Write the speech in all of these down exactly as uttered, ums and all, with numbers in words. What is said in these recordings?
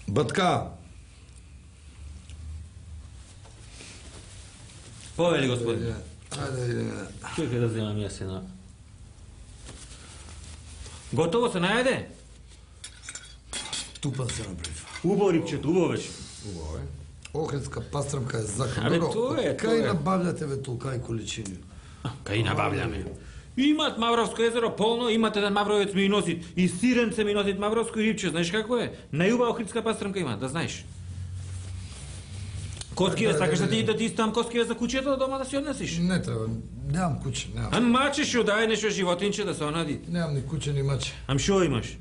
Батка! Повели, господине. Ајде, ајде. Чекај да земам јас една. Готово се најде? Тупан се направив. Убаво рипчето, убаво беше. Убаво е. Охридска пастрмка е закон. Абе, тоа е, тоа е. Кај набавljате ве толкај количини? Кај набавljаме. Имат Мавровско езеро полно, имат еден мавровец ми носи и сиренце ми носит мавровско рипче, знаеш како е? Најубава охридска пастрмка има, да знаеш. Коскиве, сакаш да ти да ти истам коскиве за куќето дома да си однесиш? Не треба, немам куќе, немам. А маче шо дај нешто животинче да се онади. Немам ни куќе ни маче. Ам шо имаш?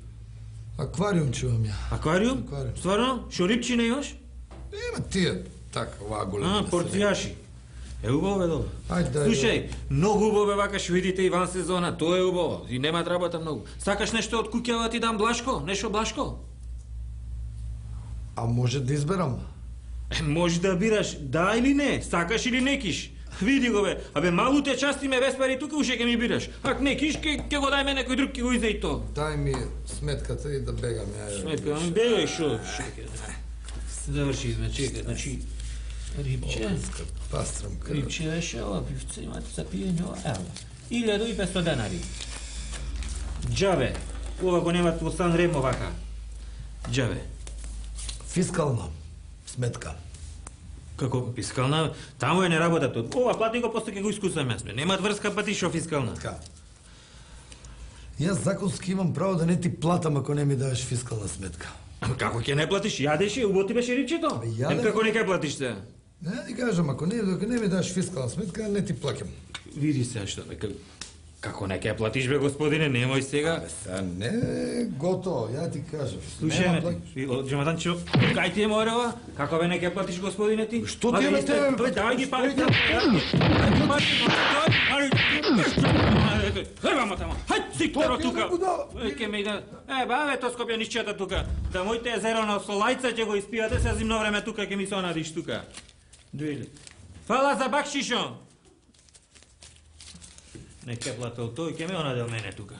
Аквариум чувам ја. Аквариум? Аквариум. Стварно? Шо рипчи не имаш? Има тие, така, оваа голема. А, порцијаши. Е, убаво бе, добро. Ајде, дај. Слушај, многу убаво бе вака видите и ван сезона, тоа е убаво. И нема работа многу. Сакаш нешто од куќава ти дам блашко? Нешто блашко? А може да изберам? Е, може да бираш да или не, сакаш или не киш. Види го бе, абе малу те части ме веспари тука уше ке ми бираш. Ак не киш, ке, ке го дај ме некој друг, ке го изе и то. Дај ми сметката и да бегам ја. Сметка, ам бегај шо, чекај. Заврши изме, чекај, значи рибче, Пастрмка. рибче беше ова пивце, имате за пиење ова, ево. илјаду и петстотини денари. Џабе, ова го немат во Сан Ремо вака. Џабе. Фискална сметка. Како фискална, таму е не работата. Ова плати го, после ќе го искусам јас. Немат врска па ти шо фискална. Така. Јас законски имам право да не ти платам ако не ми даеш фискална сметка. Како ќе не платиш? Јадеше, убаво ти беше рибчето. јадев. Ем како не ќе платиш се? Не, ти кажам, ако не, ако не ми даеш фискална сметка, не ти плакам. Види се што бе, како не ќе платиш бе господине, немој сега. Абе, сега не, готово, ја ти кажам. Слушај Нема ме плакаш. ти, Џемаданчо, кај ти е морела? Како бе не ќе платиш господине ти? Што ти е бе тебе? Тој дај ги пари. Хрвамо тамо. Хај сикторо тука. Ке ме иде. Е, баве то Скопје нишчета тука. Да моите езеро на Солајца ќе го испијате се зимно време тука ќе ми се онадиш тука. Дојде. Фала за бакшишо. Не ке платил тој, ке ме онадел мене тука.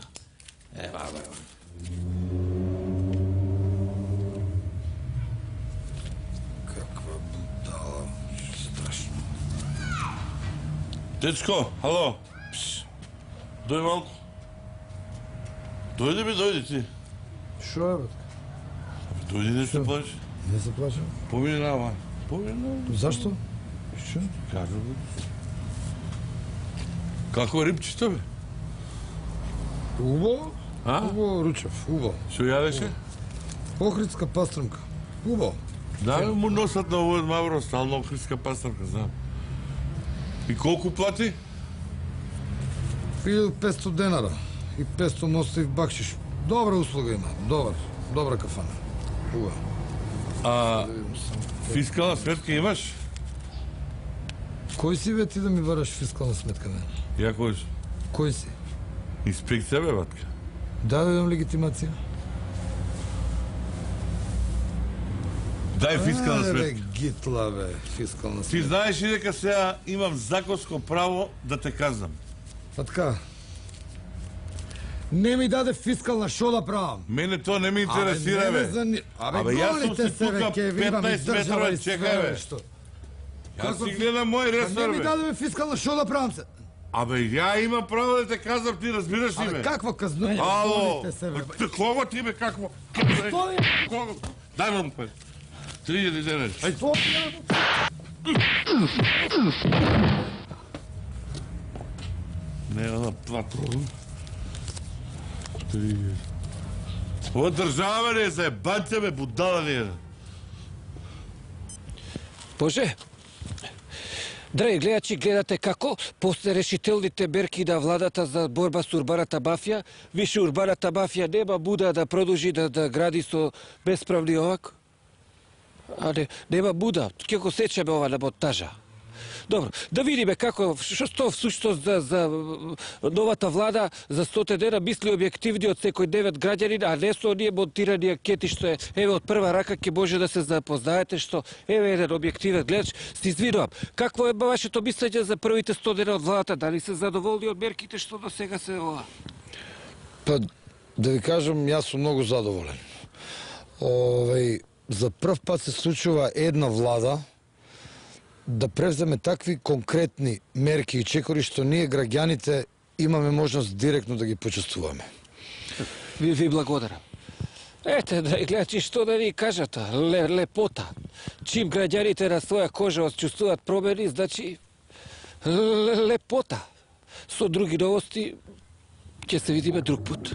Е, баба, ева. Каква будала, страшно. Дечко, ало. Пш. Дој малку. Дојде би, дојде ти. Шо е, бе? Дојде не се плаче. Не се плачам. Помини на ова. Помини на ова. Зашто? Шо? Кажу бе. Како е рибчето бе? Убаво? А? Убаво, Ручев, убаво. Шо јадеше? Охридска пастрмка. Убаво. Да, бе, му носат на овој Мавро, стално охридска пастрмка, знам. И колку плати? илјаду и петстотини денара и петстотини ноставив бакшиш. Добра услуга има, добар, добра кафана. Убаво. А фискална сметка имаш? Кој си бе ти да ми бараш фискална сметка, не? Ја кој си? Кој си? Инспекција бе, батка. Дадем легитимација. Дај фискална Ајде, бе, сметка. гитла, бе, фискална Ти сметка. знаеш ли дека сега имам законско право да те казнам? Па така. Не ми даде фискална, шо да правам? Мене тоа не ме интересира, Абе, не ме бе. зани- Абе, Абе, јас сум голите си се, бе, тука ке ви имам петнаесет издржава метра, и све, чекај, бе. бе, што? Јас Како си ти- гледам мој Па не ресор, ми бе. даде бе фискална, шо да правам се? Абе, ја имам право да те казам, ти разбираш ли, Абе, бе? какво казнување? Ало, Голите се, бе. Т- кого ти, бе, какво? Стои! Кого? Дај му пари. три илјади денари. Ајде. Стои! Не, да платам. Три. Ова држава не е за ебанце, бе, будала не е. Боже, драги гледачи, гледате како после решителните мерки на владата за борба со урбаната мафија, више урбаната мафија нема буда да продолжи да, да гради со bespravни овак. А не, нема буда, ќе го сечеме ова на монтажа. Добро, да видиме како, што што всушност за, за новата влада за сто дена мисли објективни од секој девет граѓанин, а не со оние монтирани анкети што е, еве од прва рака ќе може да се запознаете што еве еден објективен гледач. Се извинувам, какво е вашето мислење за првите сто дена од владата? Дали се задоволни од мерките што до сега се ова? Па, да ви кажам, јас сум многу задоволен. Овеј, за прв пат се случува една влада да превземе такви конкретни мерки и чекори што ние граѓаните имаме можност директно да ги почувствуваме. Ви, ви благодарам. Ете, драги гледачи, што да ви кажат, ле, лепота. Чим граѓаните на своја кожа чувствуваат промени, значи лепота. Со други новости ќе се видиме друг пут.